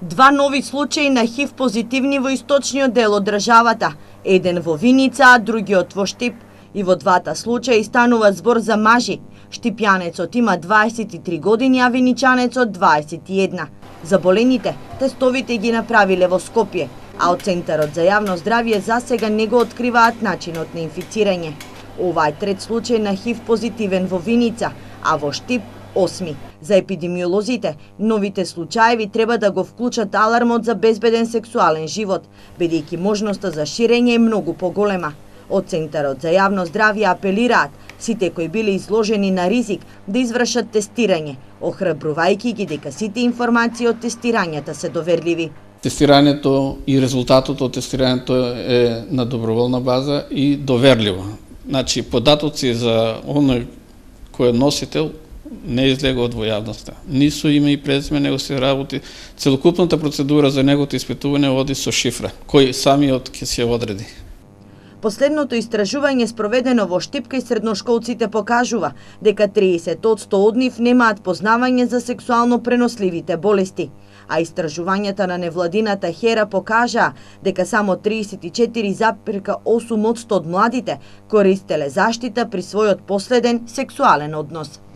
Два нови случаи на ХИВ позитивни во источниот дел од државата. Еден во Виница, а другиот во Штип. И во двата случаи станува збор за мажи. Штипјанецот има 23 години, а виничанецот 21. Заболените тестовите ги направиле во Скопје, а од Центарот за јавно здравје засега не го откриваат начинот на инфицирање. Ова е трет случај на ХИВ позитивен во Виница, а во Штип 8. За епидемиолозите, новите случаеви треба да го вклучат алармот за безбеден сексуален живот, бидејќи можноста за ширење е многу поголема. Од Центарот за јавно здравје апелираат сите кои биле изложени на ризик да извршат тестирање, охрабрувајќи ги дека сите информации од тестирањата се доверливи. Тестирањето и резултатот од тестирањето е на доброволна база и доверливо. Значи, податоци за оној кој е носител не излегуваат во јавноста. Ни со име и презиме него се работи. Целокупната процедура за неговото испитување води со шифра, кој самиот ќе се одреди. Последното истражување спроведено во Штип кај средношколците покажува дека 30% од нив немаат познавање за сексуално преносливите болести, а истражувањата на невладината Хера покажаа дека само 34,8% од младите користеле заштита при својот последен сексуален однос.